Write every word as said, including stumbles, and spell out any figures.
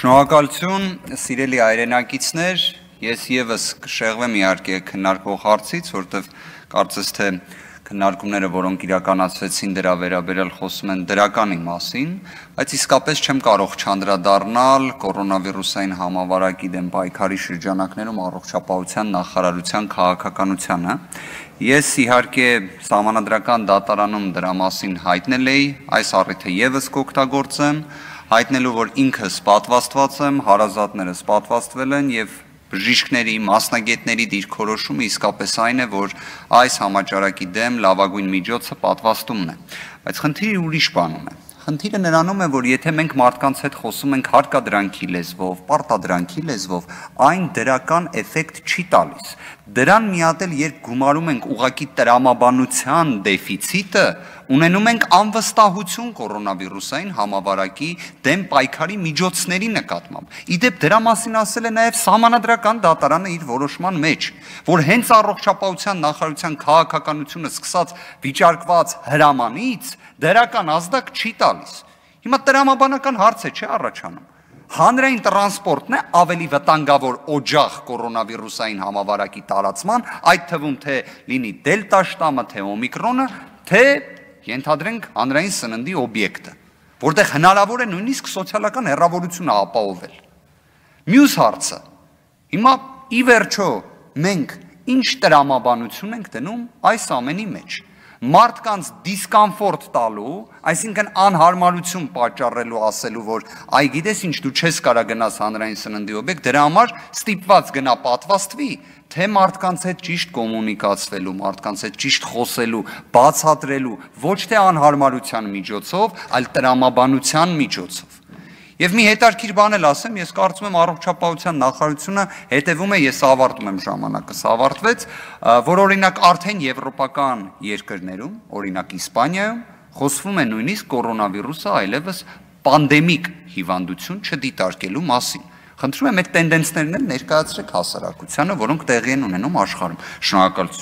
Շնորհակալություն, սիրելի հայրենակիցներ, ես եւս կշեղվեմ իհարկե քննարկվող հարցից, որտեղ կարծես թե քննարկումները, որոնք իրականացվեցին դրա վերաբերյալ խոսում են դրականի մասին, բայց իսկապես չեմ կարող չանդրադառնալ կորոնավիրուսային համավարակի դեմ պայքարի շրջանակներում առողջապահության նախարարության քաղաքականությանը։ Ես իհարկե Սահմանադրական դատարանում դրա մասին հայտնել էի, այս առիթը եւս կօգտագործեմ, հայտնելու, որ ինքս պատվաստված եմ, հարազատներս պատվաստվել են եւ բժիշկների, մասնագետների դիրքորոշումը իսկապես այն է, որ այս համաճարակի դեմ լավագույն միջոցը պատվաստումն է։ Բայց խնդիրը ուրիշ բանում է։ Խնդիրը նրանում է, որ եթե մենք մարդկանց հետ խոսում ենք հարկադրանքի լեզվով, պարտադրանքի լեզվով, այն դրական էֆեկտ չի տալիս։ Դրան միատել, երբ գումարում ենք ուղղակի տրամաբանության դեֆիցիտը, ունենում ենք անվստահություն կորոնավիրուսային համավարակի դեմ պայքարի միջոցների նկատմամբ։ Իդեպ դրա մասին ասել է նաև Սահմանադրական դատարանը իր որոշման մեջ, որ հենց առողջապահության նախարարության քաղաքականությունը սկսած վիճարկված հրամանից դրական ազդակ չի տալիս։ Հիմա տրամաբանական հարց է, չէ՞ առաջանում։ Հանրային տրանսպորտն է ավելի վտանգավոր օջախ կորոնավիրուսային համավարակի տարածման, այդ թվում թե լինի դելտա շտամը, թե օմիկրոնը, թե ենթադրենք հանրային սննդի օբյեկտը, որտեղ հնարավոր է նույնիսկ սոցիալական հեռավորությունը ապահովել։ Մյուս հարցը, հիմա ի վերջո մենք ինչ տրամաբանություն ենք դնում այս ամենի մեջ։ Մարդկանց դիսկոմֆորտ տալու, այսինքն անհարմարություն պատճառելու, ասելու, որ այ գիտես ինչ, դու չես կարող գնաս հանրային սննդի օբյեկտ, դրա համար ստիպված գնա պատվաստվի, թե մարդկանց հետ ճիշտ կոմունիկացվելու, մարդկանց հետ ճիշտ խոսելու, բացատրելու, ոչ թե անհարմարության միջոցով, այլ տրամաբանության միջոցով։ Եվ մի հետաքրքիր բան էլ ասեմ, ես կարծում եմ առողջապահության նախարարությունը հետևում է, ես ավարտում եմ ժամանակս ավարտվեց, որ օրինակ արդեն եվրոպական երկրներում, օրինակ Իսպանիայում, խոսվում է նույնիսկ կորոնավիրուսը այլևս պանդեմիկ հիվանդություն չդիտարկելու մասին։ Խնդրում եմ այդ տենդենսներն էլ ներկայացրեք հասարակությանը, որոնք տեղի են ունենում աշխարհում։ Շնորհակալություն։